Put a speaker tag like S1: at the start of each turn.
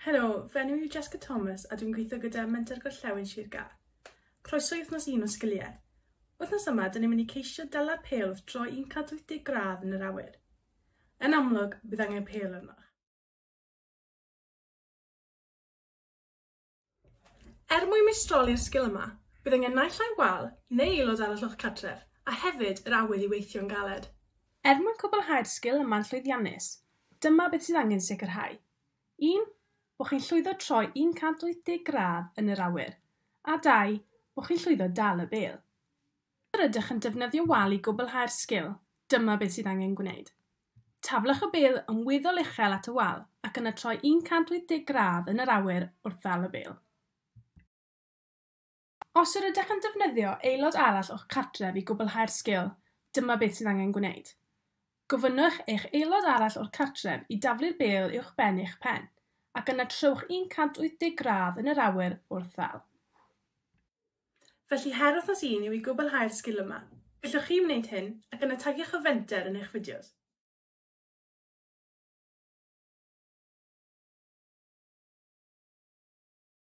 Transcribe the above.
S1: Helo, fy enw i yw Jessica Thomas a dwi'n gweithio gyda Menter Gorllewin Sir Gâr. Croeso i wythnos un o Sgiliau. Wythnos yma, dyn ni'n mynd i ceisio dala pêl wrth droi 180 gradd yn yr awyr. Yn amlwg, bydd angen pêl arnoch. Er mwyn meistroli'r sgil yma, bydd angen naill ai wal neu aelod arall o'ch cartref, a hefyd yr awydd i weithio'n galed. Er mwyn cwblhau'r sgil yma'n llwyddiannus, dyma beth sydd angen sicrhau. 1, Bod chi'n llwyddo troi 180 gradd yn yr awyr. A 2, Bod chi'n llwyddo dal y bêl. Os yr ydych yn defnyddio wal i gwblhau'r sgil, dyma beth sydd angen gwneud. Taflwch y bêl yn weddol uchel at y wal ac yna troi 180 gradd yn yr awyr wrth ddal y bêl. Os yr ydych yn defnyddio aelod arall o'ch cartref i gwblhau'r sgil, dyma beth sydd angen gwneud. Gofynnwch eich aelod arall o'r cartref i daflu'r bêl uwchben eich pen, ac yna trowch 180 gradd yn yr awyr wrth ddal. Felly her wythnos un yw i gwblhau'r sgil yma. Gallwch chi wneud hyn ac yna tagiwch y fenter yn eich fideos.